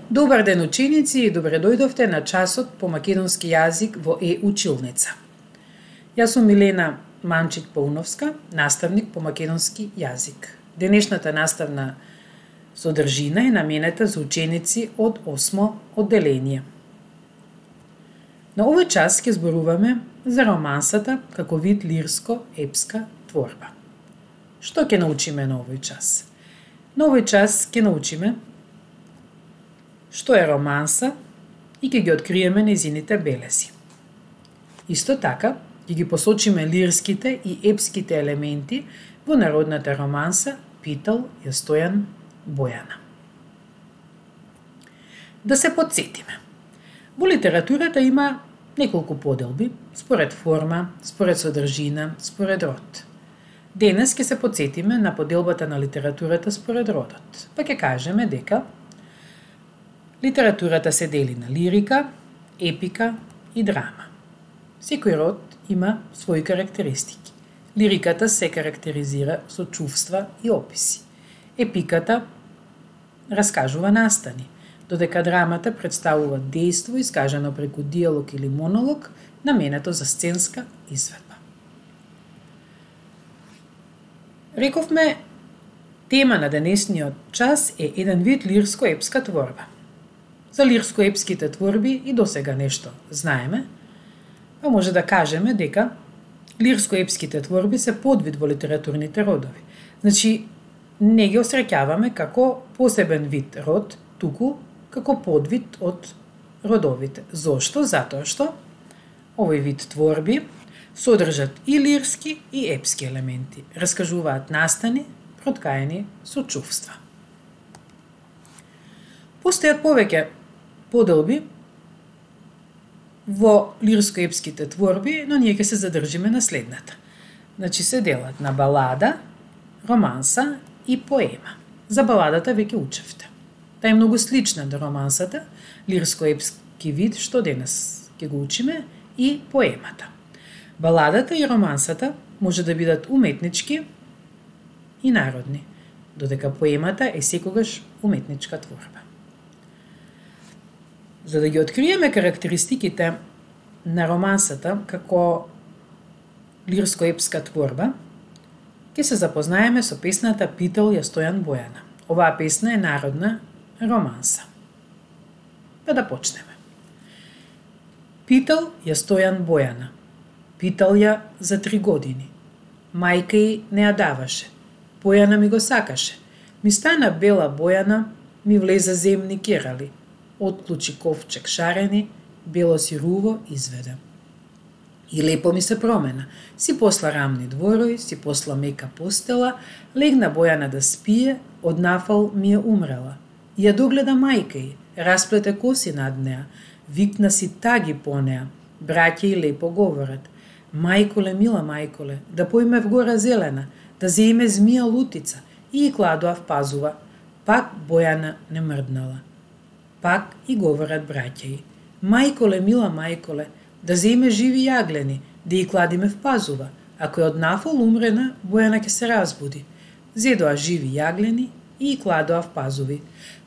Добар ден ученици и добре дојдовте на часот по македонски јазик во Училница. Јас сум Милена Манчик-Пауновска, наставник по македонски јазик. Денешната наставна содржина е наменета за ученици од 8 одделение. На овој час ќе зборуваме за романсата како вид лирско-епска творба. Што ќе научиме на овој час? На овој час ќе научиме што е романса и ќе ги откриеме нејзините белези. Исто така, ќе ги посочиме лирските и епските елементи во народната романса Питал ја Стојан Бојана. Да се подсетиме. Во литературата има неколку поделби, според форма, според содржина, според род. Денес ќе се подсетиме на поделбата на литературата според родот, па ќе кажеме дека литературата се дели на лирика, епика и драма. Секој род има своји карактеристики. Лириката се карактеризира со чувства и описи. Епиката раскажува настани, додека драмата представува дејство искажано преку диалог или монолог, наменето за сценска изведба. Рековме, тема на денешниот час е еден вид лирско-епска творба. За лирско-епските творби и досега нешто знаеме, а може да кажеме дека лирско-епските творби се подвид во литературните родови. Значи, не ги осреќаваме како посебен вид род, туку како подвид од родовите. Зошто? Затоа што овој вид творби содржат и лирски и епски елементи, раскажуваат настани, проткаени со чувства. Постојат повеќе поделби во лирско-епските творби, но ние ќе се задржиме на следната. Значи се делат на балада, романса и поема. За баладата веќе учевте. Таа е многу слична до романсата, лирско-епски вид, што денес ќе го учиме, и поемата. Баладата и романсата може да бидат уметнички и народни, додека поемата е секогаш уметничка творба. За да ги откриеме карактеристиките на романсата како лирско-епска творба, ќе се запознаеме со песната Питал ја Стојан Бојана. Оваа песна е народна романса. Па да почнеме. Питал ја Стојан Бојана. Питал ја за 3 години. Мајка ѝ не ја даваше. Бојана ми го сакаше. Ми стана бела Бојана, ми влеза земни керали. Отклучи ковчег шарени, бело си руво изведе. И лепо ми се промена. Си посла рамни дворови, си посла мека постела, легна Бојана да спие, од нафал ми е умрела. Ја догледа мајка ѝ, расплете коси над неа, викна си таги по неа, браќа и лепо говорат. Мајколе, мила мајколе, да поиме в гора зелена, да зеиме змија лутица, и кладоа в пазува. Пак Бојана не мрднала. Пак и говорат браќа ѝ. Мајколе, мила мајколе, да зеиме живи јаглени, да и кладиме в пазува. Ако е од нафол умрена, Бојана ќе се разбуди. Зедоа живи јаглени и кладоа в пазуви.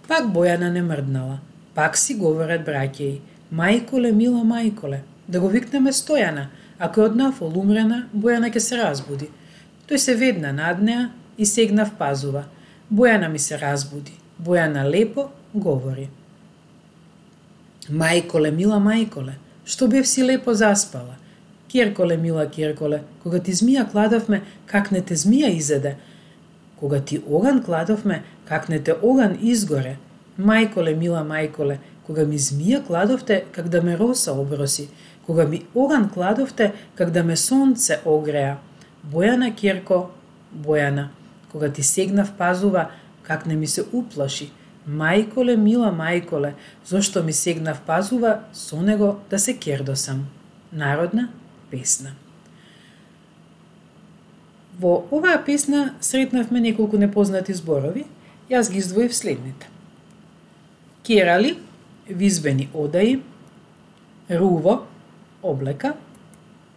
Пак Бојана не мрднала. Пак си говорат браќа ѝ. Мајколе, мила мајколе, да го викнеме Стојана. Ако е од нафол умрена, Бојана ќе се разбуди. Тој се ведна над неа и сегна в пазува. Бојана ми се разбуди. Бојана лепо говори. Мајколе, мила мајколе, што бев си лепо заспала? Керколе, мила керколе, кога ти змија кладовме, как не те змија изеде? Кога ти оган кладовме, как не те оган изгоре? Мајколе, мила мајколе, кога ми змија кладовте, как да ме роса оброси? Кога ми оган кладовте, как да ме сонце огреа? Бојана керко, Бојана, кога ти сегна в пазува, как не ми се уплаши? Мајколе, мила мајколе, зошто ми сегна в пазува, со него да се кердосам. Народна песна. Во оваа песна сретнавме неколку непознати зборови, јас ги издвоив следните. Керали, визбени одаи, руво, облека,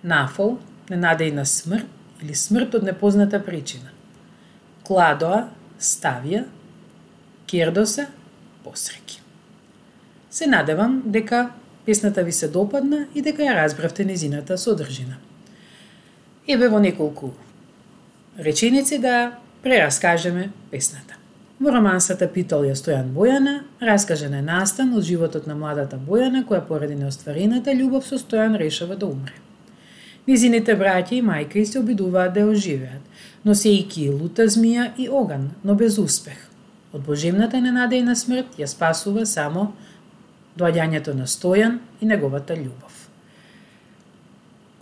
нафол, ненадејна смрт или смрт од непозната причина. Кладоа, ставија, кердоса, посреки. Се надевам дека песната ви се допадна и дека ја разбравте незината содржина. Еве во неколку реченици да прераскажеме песната. Во романсата Питолја Стојан Бојана раскажен е настан од животот на младата Бојана која поради неостварената љубов со Стојан решава да умре. Низините браќа и мајка и се обидуваат да ја оживеат, носејќи и лута змија и оган, но без успех. Од божемната ненадејна смрт ја спасува само доаѓањето на Стојан и неговата љубов.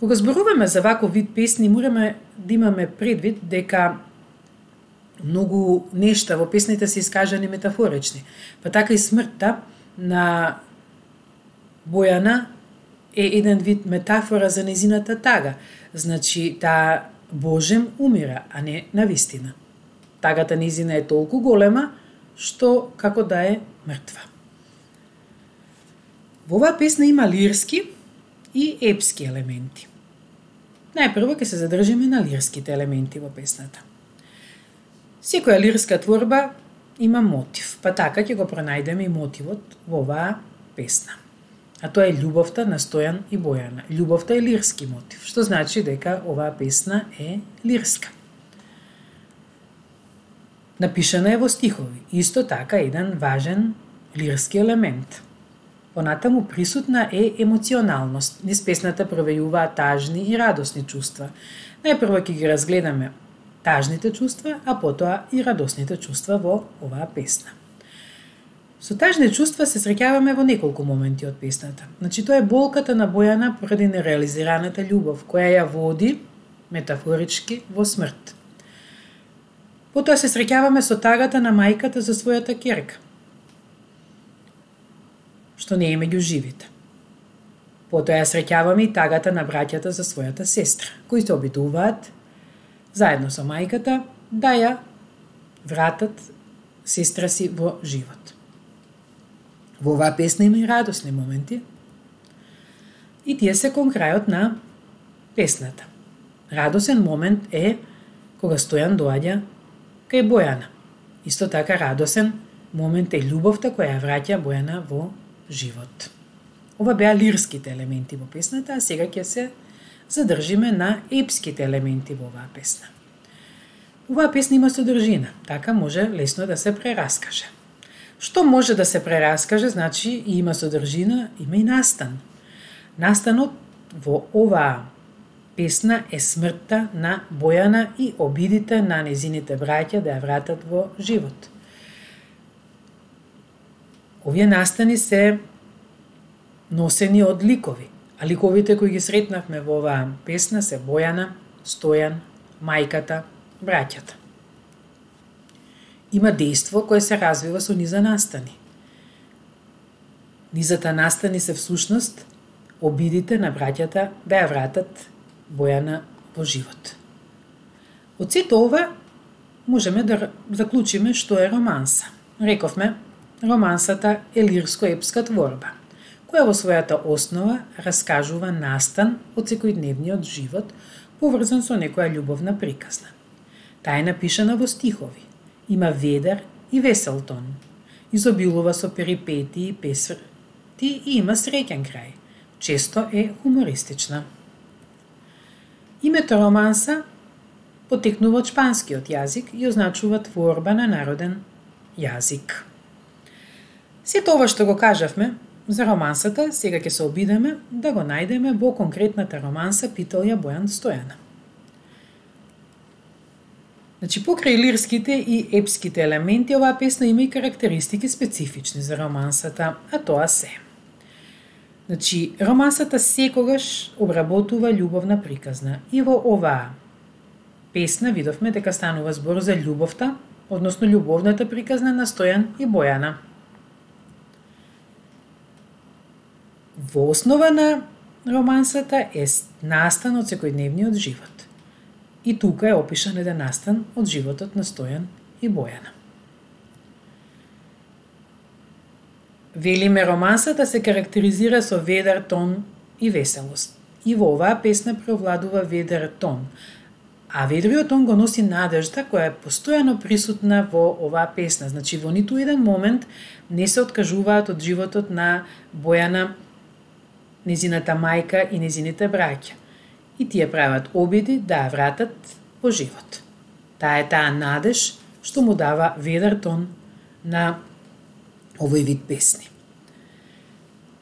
Кога зборуваме за ваков вид песни, мораме да имаме предвид дека многу нешта во песните се искажани метафорични. Па така и смртта на Бојана е еден вид метафора за незината тага. Значи, таа Божем умира, а не навистина. Тагата незина е толку голема, што како да е мртва. Во оваа песна има лирски и епски елементи. Најпрво ќе се задржиме на лирските елементи во песната. Секоја лирска творба има мотив, па така ќе го пронајдеме и мотивот во оваа песна. А тоа е љубовта на Стојан и Бојана. Љубовта е лирски мотив, што значи дека оваа песна е лирска. Напишана е во стихови, исто така еден важен лирски елемент. Понатаму присутна е емоционалност. Низ песната провејуваат тажни и радосни чувства. Најпрво ќе ги разгледаме тажните чувства, а потоа и радосните чувства во оваа песна. Со тажни чувства се среќаваме во неколку моменти од песната. Значи, тоа е болката на Бојана поради нереализираната љубов, која ја води, метафорички, во смрт. Потоа се среќаваме со тагата на мајката за својата ќерка, што не е меѓу живите. Потоа ја среќаваме и тагата на браќата за својата сестра, кои се обидуваат заедно со мајката да ја вратат сестра си во живот. Во оваа песна има и радосни моменти и тие се кон крајот на песната. Радосен момент е кога Стојан доаѓа кај Бојана. Исто така радосен момент е љубовта која ја враќа Бојана во живот. Ова беа лирските елементи во песната, а сега ќе се задржиме на епските елементи во оваа песна. Оваа песна има содржина, така може лесно да се прераскаже. Што може да се прераскаже, значи и има содржина, има и настан. Настанот во оваа песна е смртта на Бојана и обидите на незините браќа да ја вратат во живот. Овие настани се носени од ликови, а ликовите кои ги сретнавме во оваа песна се Бојана, Стојан, мајката, браќата. Има дејство кое се развива со низа настани. Низата настани се всушност обидите на браќата да ја вратат Бојана во живот. Од сето ова можеме да заклучиме што е романса. Рековме, романсата е лирско-епска творба, која во својата основа раскажува настан од секојдневниот живот, поврзан со некоја љубовна приказна. Таа е напишана во стихови, има ведар и весел тон, изобилува со перипетии и песрти и има среќен крај, често е хумористична. Името романса потекнува од шпанскиот јазик и означува творба на народен јазик. Сето ова што го кажавме за романсата, сега ќе се обидеме да го најдеме во конкретната романса Питолја Бојан Стојана. Значи, покрај лирските и епските елементи, оваа песна има и карактеристики специфични за романсата, а тоа се. Значи, романсата секогаш обработува љубовна приказна и во оваа песна видовме дека станува збор за љубовта, односно љубовната приказна на Стојан и Бојана. Во основа на романсата е настан од секојдневниот живот. И тука е опишан еден настан од животот на Стојан и Бојана. Велиме, романсата се карактеризира со ведар тон и веселост. И во оваа песна преовладува ведар тон, А ведриот тон го носи надежда која е постојано присутна во оваа песна. Значи, во ниту еден момент не се откажуваат од животот на Бојана, незината мајка и незините браќа. И тие прават обиди да ја вратат во живот. Таа е таа надеж што му дава ведар тон на овој вид песни.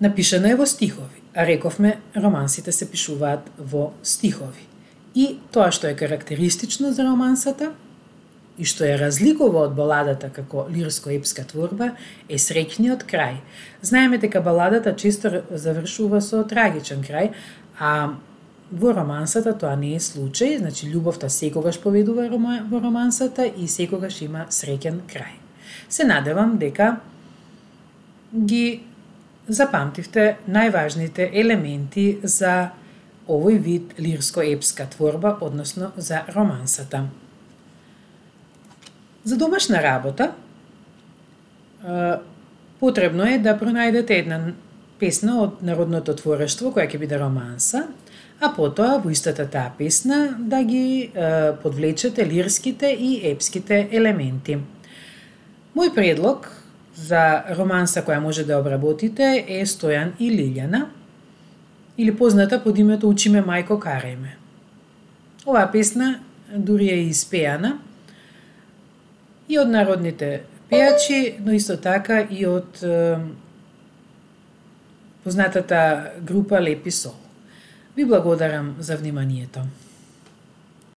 Напишана е во стихови, а рековме романсите се пишуваат во стихови. И тоа што е карактеристично за романсата и што ја разликува од баладата како лирско-епска творба е среќниот крај. Знаеме дека баладата често завршува со трагичен крај, а во романсата тоа не е случај, значи љубовта секогаш победува во романсата и секогаш има среќен крај. Се надевам дека ги запамтивте најважните елементи за овој вид лирско-епска творба, односно за романсата. За домашна работа потребно е да пронајдете една песна од народното творештво која ќе биде романса, а потоа во истата таа песна да ги подвлечете лирските и епските елементи. Мој предлог за романса која може да обработите е Стојан и Лилјана, или позната под името Учи ме мајко, карај ме. Оваа песна дури е испеана и од народните пејачи, но исто така и од познатата група Лепи Сол. Ви благодарам за вниманието.